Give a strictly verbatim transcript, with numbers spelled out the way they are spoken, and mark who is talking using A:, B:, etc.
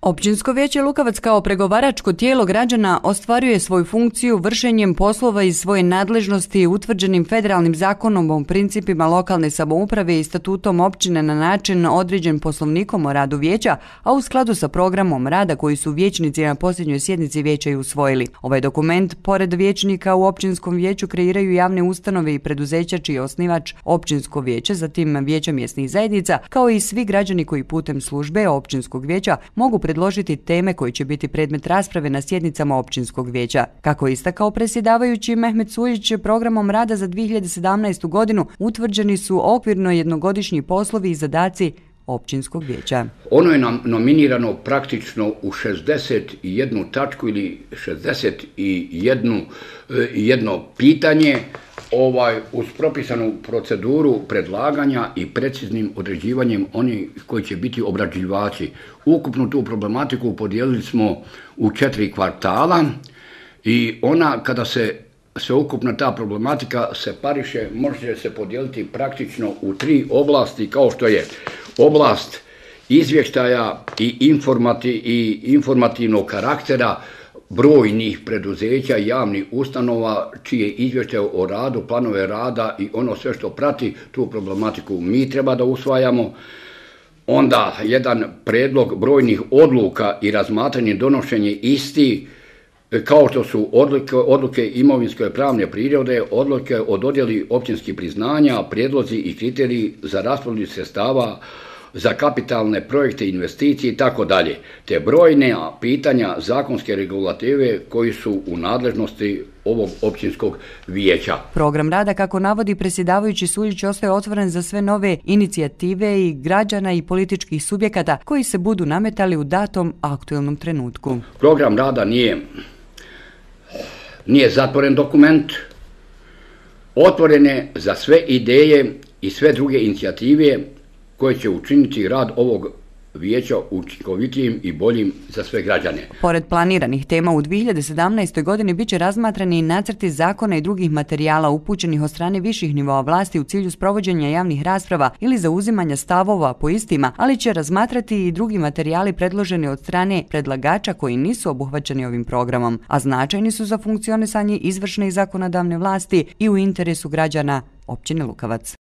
A: Općinsko vijeće Lukavac kao pregovaračko tijelo građana ostvaruje svoju funkciju vršenjem poslova iz svoje nadležnosti utvrđenim federalnim zakonom o principima lokalne samouprave i statutom općine na način određen poslovnikom o radu vijeća, a u skladu sa programom rada koji su vijećnici na posljednjoj sjednici vijeća i usvojili. Ovaj dokument, pored vijećnika u općinskom vijeću, kreiraju javne ustanove i preduzeća čiji je osnivač općinsko vijeće, zatim vijeća mjesnih zajednica, kao i svi građani koji putem službe općinskog vijeća mogu predložiti teme koji će biti predmet rasprave na sjednicama općinskog vijeća. Kako je istakao predsjedavajući Mehmet Suljić, programom rada za dvije hiljade sedamnaestu. godinu utvrđeni su okvirno jednogodišnji poslovi i zadaci općinskog vijeća.
B: Ono je nam nominirano praktično u šezdeset jednu tačku ili šezdeset jedno jedno pitanje, ovaj, uz propisanu proceduru predlaganja i preciznim određivanjem onih koji će biti obrađivači. Ukupnu tu problematiku podijelili smo u četiri kvartala i ona, kada se sveukupna ta problematika separiše, može se podijeliti praktično u tri oblasti, kao što je oblast izvještaja i, informati, i informativnog karaktera brojnih preduzeća i javnih ustanova čije izvještaje o radu, planove rada i ono sve što prati tu problematiku mi treba da usvajamo. Onda jedan predlog brojnih odluka i razmatranje donošenje isti, kao što su odluke, odluke imovinske pravne prirode, odluke o dodjeli općinskih priznanja, prijedlozi i kriteriji za raspodjelu sredstava za kapitalne projekte, investicije i tako dalje, te brojne pitanja zakonske regulative koji su u nadležnosti ovog općinskog vijeća.
A: Program rada, kako navodi predsjedavajući Suljić, ostaje otvoren za sve nove inicijative i građana i političkih subjekata koji se budu nametali u datom aktualnom trenutku.
B: Program rada nije, nije zatvoren dokument, otvoren je za sve ideje i sve druge inicijative koje će učiniti rad ovog vijeća učinkovitijim i boljim za sve građane.
A: Pored planiranih tema u dvije hiljade sedamnaestoj. godini biće razmatrani i nacrti zakona i drugih materijala upućenih od strane viših nivoa vlasti u cilju sprovođenja javnih rasprava ili zauzimanja stavova po istima, ali će razmatrati i drugi materijali predloženi od strane predlagača koji nisu obuhvaćeni ovim programom, a značajni su za funkcionisanje izvršne i zakonodavne vlasti i u interesu građana općine Lukavac.